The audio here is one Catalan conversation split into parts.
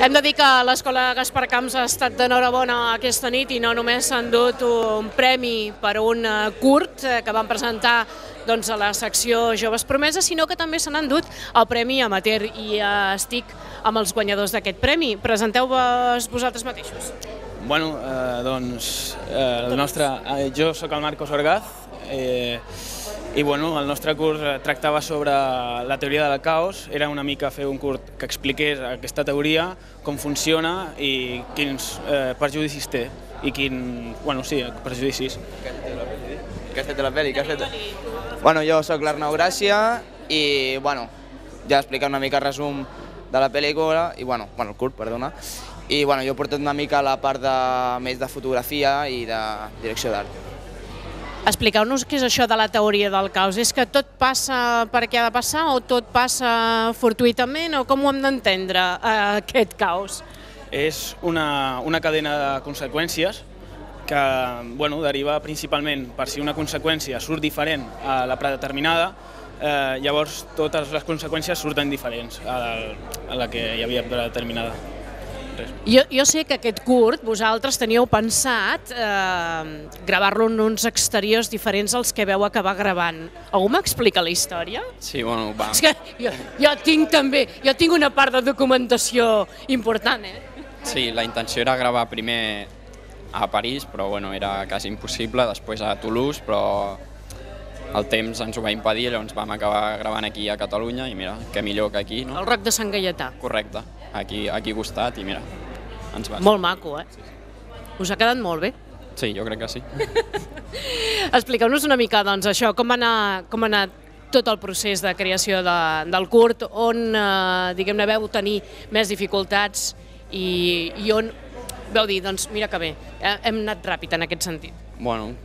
Hem de dir que l'Escola Gaspar Camps ha estat d'enhorabona aquesta nit i no només s'han dut un premi per un curt que van presentar a la secció Joves Promeses, sinó que també se n'han dut el Premi Amateur i estic amb els guanyadors d'aquest premi. Presenteu-vos vosaltres mateixos. Bueno, doncs jo sóc el Marcos Orgaz i el nostre curs tractava sobre la teoria del caos. Era una mica fer un curt que expliqués aquesta teoria, com funciona i quins perjudicis té. I perjudicis. Què has fet de la pel·li? Bueno, jo sóc l'Arnau Gràcia i ja he explicat una mica el resum de la pel·lícula, el curt, perdona, i jo he portat una mica la part més de fotografia i de direcció d'art. Expliqueu-nos què és això de la teoria del caos. És que tot passa perquè ha de passar o tot passa fortuïtament o com ho hem d'entendre, aquest caos? És una cadena de conseqüències que deriva principalment per si una conseqüència surt diferent a la predeterminada, llavors totes les conseqüències surten diferents a la que hi havia predeterminada. Jo sé que aquest curt vosaltres teníeu pensat gravar-lo en uns exteriors diferents als que veu acabar gravant. Algú m'explica la història? Sí, va. És que jo tinc una part de documentació important, Sí, la intenció era gravar primer a París, però era quasi impossible, després a Toulouse, però el temps ens ho va impedir, llavors vam acabar gravant aquí a Catalunya i mira, què millor que aquí, no? El Roc de Sant Gaietà. Correcte, aquí a costat i mira, ens va. Molt maco, Us ha quedat molt bé? Sí, jo crec que sí. Expliqueu-nos una mica, doncs, això, com va anar tot el procés de creació del curt, on, diguem-ne, veu tenir més dificultats i on veu dir, doncs, mira que bé, hem anat ràpid en aquest sentit. Bueno,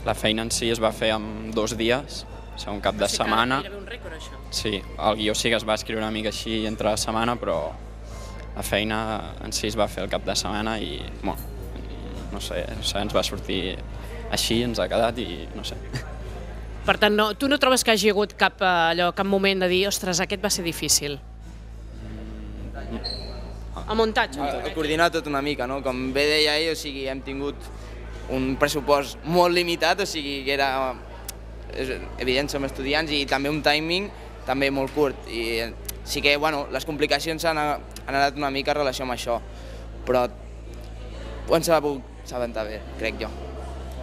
la feina en si es va fer en 2 dies, un cap de setmana. Era un rècord, això. Sí, el guió sí que es va escriure una mica així entre la setmana, però la feina en si es va fer el cap de setmana i, no sé, ens va sortir així, ens ha quedat i no sé. Per tant, tu no trobes que hagi hagut cap moment de dir, ostres, aquest va ser difícil? El muntatge? Coordinar tot una mica, no? Com bé deia ell, hem tingut un pressupost molt limitat, o sigui que era evident, som estudiants, i també un timing també molt curt. I sí que les complicacions han anat una mica en relació amb això, però ho hem sabut aventar bé, crec jo.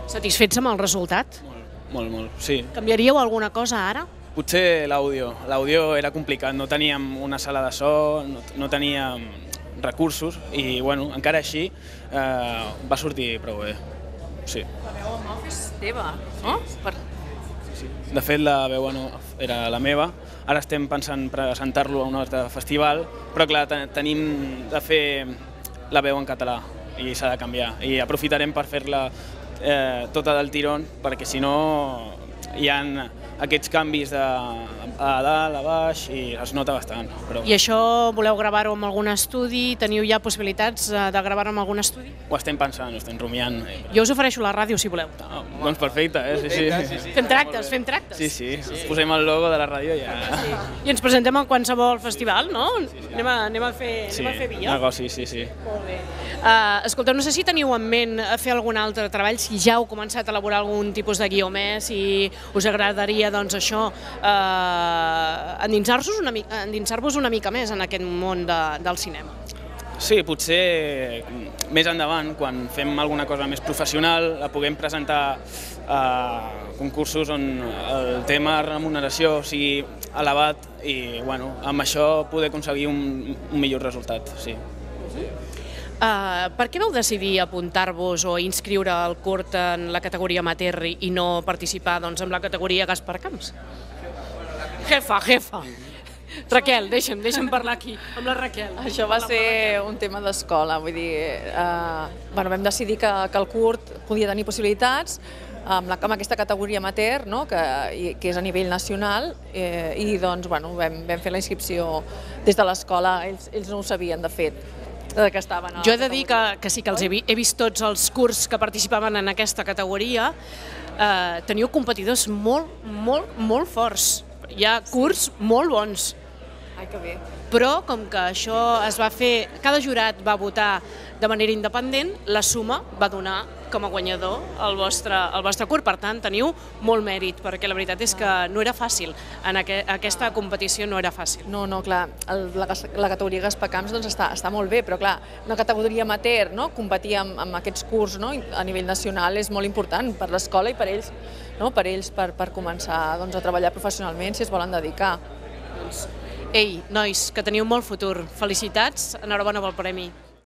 Satisfets amb el resultat? Molt, sí. Canviaríeu alguna cosa ara? Potser l'àudio. L'àudio era complicat, no teníem una sala de so, no teníem recursos i, encara així va sortir prou bé. Sí. La veu en off és teva, no? De fet, la veu en off era la meva. Ara estem pensant presentar-lo a un altre festival, però clar, tenim de fer la veu en català i s'ha de canviar. I aprofitarem per fer-la tota del tirón, perquè si no hi ha aquests canvis a dalt, a baix, i es nota bastant. I això voleu gravar-ho en algun estudi? Teniu ja possibilitats de gravar-ho en algun estudi? Ho estem pensant, ho estem rumiant. Jo us ofereixo la ràdio, si voleu. Doncs perfecte, sí. Fem tractes. Sí, posem el logo de la ràdio i ja... I ens presentem a qualsevol festival, no? Anem a fer via. Negoci, sí. Molt bé. Escolteu, no sé si teniu en ment fer algun altre treball, si ja heu començat a elaborar algun tipus de guió més, si us agradaria, doncs, això, endinsar-vos una mica més en aquest món del cinema. Sí, potser més endavant, quan fem alguna cosa més professional, la puguem presentar a concursos on el tema remuneració sigui elevat i, amb això poder aconseguir un millor resultat, sí. Per què vau decidir apuntar-vos o inscriure el curt en la categoria amateur i no participar en la categoria Gaspar Camps? Jefa. Raquel, deixa'm parlar aquí, amb la Raquel. Això va ser un tema d'escola, vull dir, vam decidir que el curt podia tenir possibilitats amb aquesta categoria amateur, que és a nivell nacional, i doncs vam fer la inscripció des de l'escola, ells no ho sabien de fet. Jo he de dir que sí que els he vist tots els curts que participaven en aquesta categoria. Teniu competidors molt forts. Hi ha curts molt bons. Ai, que bé. Però com que això es va fer, cada jurat va votar de manera independent, la suma va donar com a guanyador el vostre curt. Per tant, teniu molt mèrit, perquè la veritat és que no era fàcil. Aquesta competició no era fàcil. No, clar, la categoria Gaspacamps està molt bé, però clar, una categoria amateur, competir amb aquests curts a nivell nacional és molt important per l'escola i per ells, per començar a treballar professionalment si es volen dedicar. Ei, nois, que teniu molt futur. Felicitats, enhorabona pel premi.